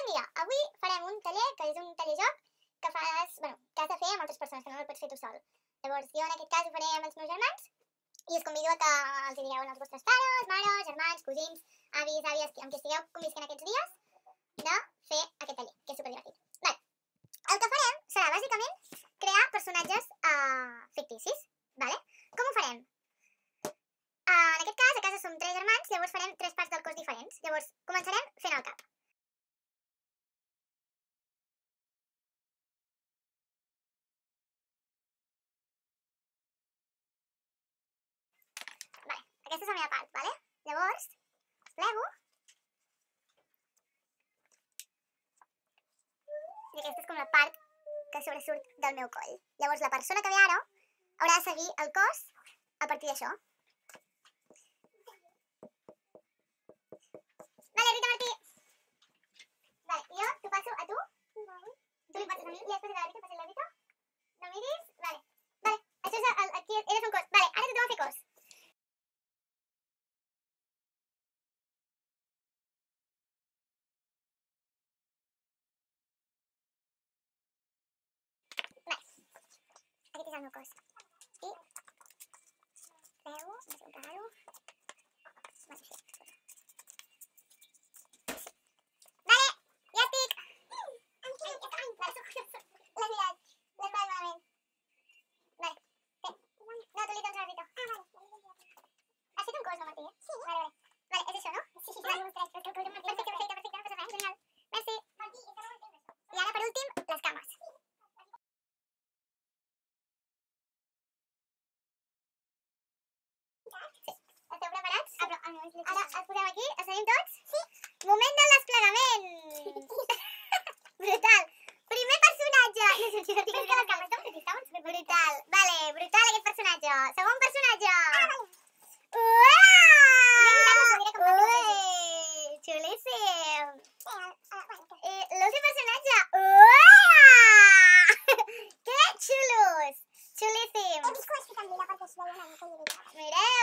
mira, avui farem un taller que és un taller-joc que fas, bueno, que has de fer amb altres persones, que no el pots fer tu sol. Llavors, jo en aquest cas ho faré amb els meus germans i us convido a que els digueu als vostres pares, mares, germans, cosins, avis, àvies, amb qui estigueu convisquent aquests dies, de fer aquest taller, que és superdivertit. Vale. El que farem serà, bàsicament, crear personatges ficticis, vale? Com ho farem? En aquest cas, a casa som 3 germans, llavors farem 3 parts del cos diferents. Llavors, començarem fent el cap. Vale, aquesta és la meva part, vale? Llavors, plego. I aquesta és com la part que sobresurt del meu coll. Llavors, la persona que ve ara haurà de seguir el cos a partir d'això. Vale, Rita Martí. Vale, jo t'ho passo a tu. Tu li passes a mi, li has passat a la Rita, passes a la Rita. No miris. Vale. Vale, això és aquí eres un cos. Vale, ara tothom a fer cos. Vale. Aquest és el meu cos. I plego, no sé on pegar-ho. Vale, així. Esteu preparats? Ara els posem aquí, els tenim tots? Sí. Moment del desplegament! Brutal! Primer personatge! No sé si no tinc que les cames estan brutal! Vale, brutal aquest personatge! Segon personatge! Uaaaa! Ui! Xulíssim! L'últim personatge! Uaaaa! Que xulos! Xulíssim! He vist que ho has fet en vida perquè es veia una mica limitada. Mireu!